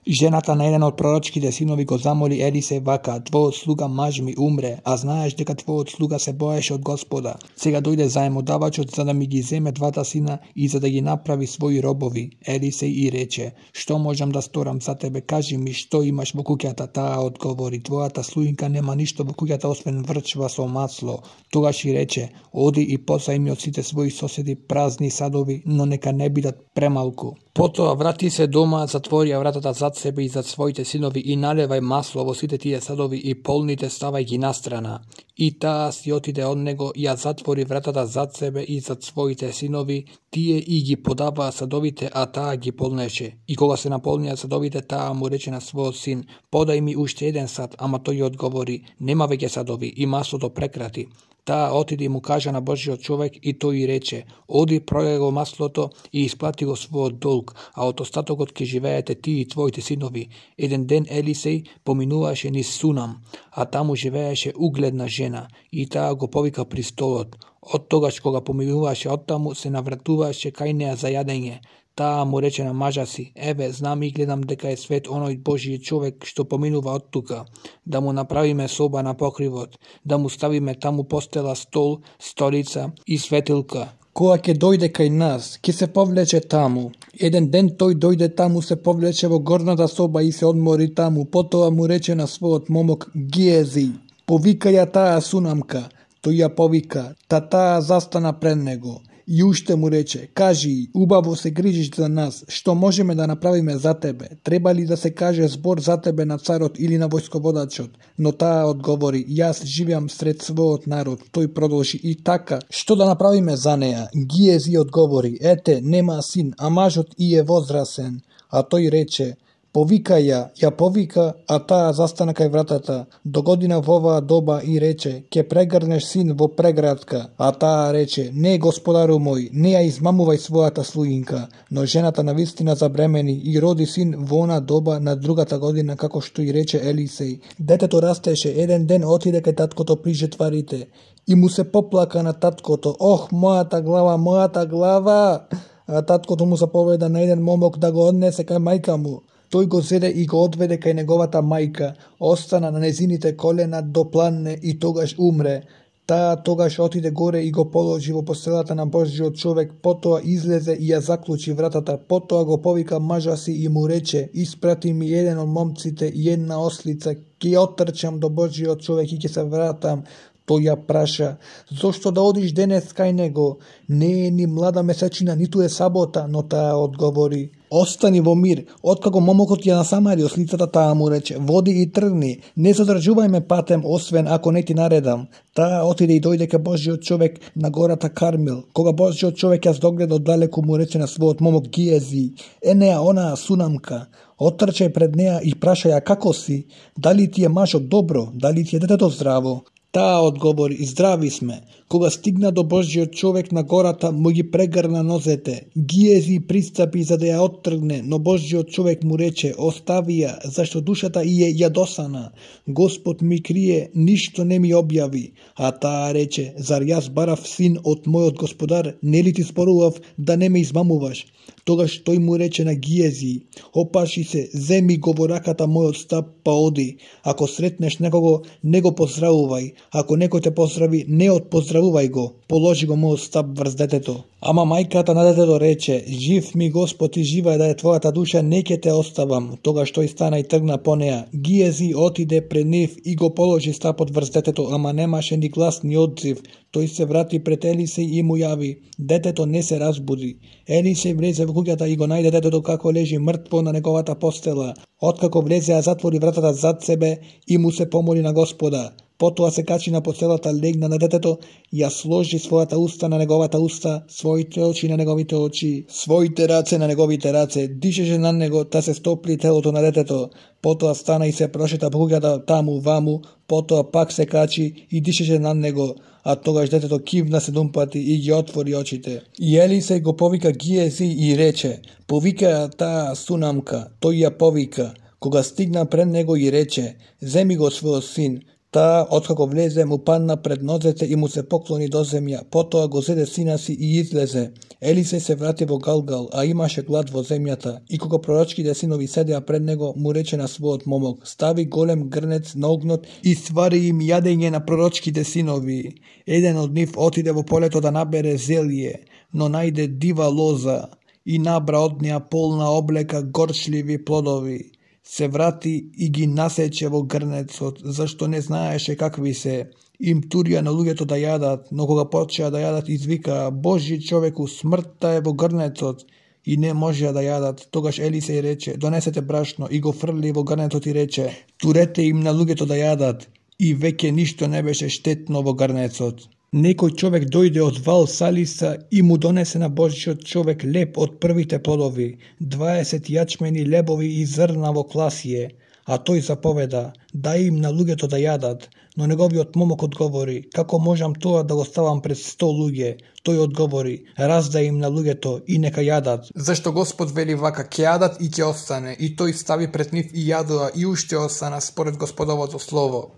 Жената на еден од пророчките синови го замоли Елисеј вака: твојот слуга маж ми умре, а знаеш дека твојот слуга се боеше од Господа. Сега дојде заемодавачот за да ми ги земе двата сина и за да ги направи своји робови. Елисеј и рече: што можам да сторам за тебе, кажи ми што имаш во куќата. Таа одговори: твојата слуинка нема ништо во куќата освен врчва со масло. Тогаш и рече: оди и позајми од сите своји соседи празни садови, но нека не бидат премалку. Потоа врати се дома, затвори вратата зад себе и зад своите синови и налевај масло во сите тие садови и полните ставај ги настрана. И таа си отиде од него, ја затвори вратата зад себе и зад своите синови, тие и ги подаваа садовите, а таа ги полнеше. И кога се наполнија садовите, таа му рече на својот син: подај ми уште еден сад, ама тој одговори: нема веќе садови, и маслото прекрати. Таа отиде и му кажа на Божиот човек и тој и рече: оди, продај го маслото и исплати го својот долг, а од остатокот ќе живеете ти и твоите синови. Еден ден Елисеј поминуваше низ Сунам, а таму живееше угледна жена, и таа го повика при столот. Од тогаш кога поминуваше од таму, се навратуваше кај неа за јадење. Таа му рече на мажа си: еве, знам и гледам дека е свет оној Божиј човек што поминува од тука. Да му направиме соба на покривот, да му ставиме таму постела, стол, столица и светилка. Кога ќе дојде кај нас, ќе се повлече таму. Еден ден тој дојде таму, се повлече во горната соба и се одмори таму. Потоа му рече на својот момок Гиези: повика ја таа Сунамка. Тој ја повика, таа застана пред него. И уште му рече: кажи, убаво се грижиш за нас, што можеме да направиме за тебе? Треба ли да се каже збор за тебе на царот или на војсководачот? Но таа одговори: јас живеам сред својот народ. Тој продолжи: и така, што да направиме за неа? Гиези одговори: ете, нема син, а мажот и е возрасен. А тој рече: повика ја повика, а таа застана кај вратата. Догодина во оваа доба и рече: ќе прегрнеш син во преградка. А таа рече: не, господару мој, не ја измамувај својата слуинка. Но жената навистина забремени и роди син во она доба на другата година, како што и рече Елисеј. Детето растеше, еден ден отиде кај таткото при жетварите и му се поплака на таткото: ох, мојата глава, мојата глава! А таткото му заповеда на еден момок да го однесе кај мајка му. Тој го зеде и го одведе кај неговата мајка, остана на незините колена до пладне и тогаш умре. Таа тогаш отиде горе и го положи во постелата на Божиот човек, потоа излезе и ја заклучи вратата, потоа го повика мажа си и му рече: испрати ми еден од момците и една ослица, ќе ја оттрчам до Божиот човек и ќе се вратам. Тој ја праша: зошто да одиш денес кај него? Не е ни млада месечина, ниту е сабота. Но таа одговори: остани во мир. Откако момокот ја насамари ослицата, таа му рече: води и тргни, не задржувај ме патем, освен ако не ти наредам. Таа отиде и дојде кај Божиот човек на гората Кармел. Кога Божиот човек ја догледа оддалеку, му рече на својот момок Гиези: енеа онаа Сунамка. Оттрчај пред неа и праша ја како си, дали ти е мажот добро, дали ти е детето здраво. Таа одговори: здрави сме. Кога стигна до Божиот човек на гората, му ги прегрна нозете. Гиези пристапи за да ја оттргне, но Божиот човек му рече: остави ја, зашто душата и е јадосана. Господ ми крие, ништо не ми објави. А таа рече: зар јас барав син од мојот господар, нели ти спорував да не ме измамуваш? Тогаш тој му рече на Гиези: опаши се, земи го во раката мојот стап, па оди. Ако сретнеш некого, не го поздравувај. Ако некој те поздрави, не отпоздравувај го. Положи го мојот стап врз детето. Ама мајката на детето рече: жив ми Господ и жива е да е твојата душа, не ќе те оставам. Тогаш тој стана и тргна по неа. Гиези отиде пред нив и го положи стапот врз детето, ама немаше ни глас ни одзив. Тој се врати пред Елисеј и му јави. Детето не се разбуди. Елисеј влезе во куќата и го најде детето како лежи мртво на неговата постела. Откако влезе, ја затвори вратата зад себе и му се помоли на Господа. Потоа се качи на постелата, легна на детето, ја сложи својата уста на неговата уста, своите очи на неговите очи, своите раце на неговите раце, дишеше на него да се стопли телото на детето. Потоа стана и се прошета по куќата таму ваму, потоа пак се качи и дишеше на него, а тогаш детето кивна 7 пати и ги отвори очите. И Елисеј го повика Гиези и рече: повика таа Сунамка. Тој ја повика. Кога стигна пред него и рече: земи го својот син. Таа, откако влезе, му падна пред нозете и му се поклони до земја. Потоа го зеде сина си и излезе. Елисеј се врати во Галгал, а имаше глад во земјата. И кога пророчките синови седеа пред него, му рече на својот момок: стави голем грнец на огнот и свари им јадење на пророчките синови. Еден од нив отиде во полето да набере зелје, но најде дива лоза и набра од неа полна облека горчливи плодови. Се врати и ги насече во грнецот, зашто не знаеше какви се. Им турија на луѓето да јадат, но кога почеа да јадат, извикаа: Божи човеку, смртта е во грнецот, и не можеа да јадат. Тогаш Елисеј рече: донесете брашно, и го фрли во грнецот и рече: турете им на луѓето да јадат. И веќе ништо не беше штетно во грнецот. Некој човек дојде од Вал Салиса и му донесе на Божиот човек леб од првите плодови, 20 јачмени лебови и зрна во класие, а тој заповеда: дај им на луѓето да јадат. Но неговиот момок одговори: како можам тоа да го ставам пред 100 луѓе? Тој одговори: раздај им на луѓето и нека јадат. Зашто Господ вели вака: ќе јадат и ќе остане. И тој стави пред нив и јадоа и уште остана според Господовото слово.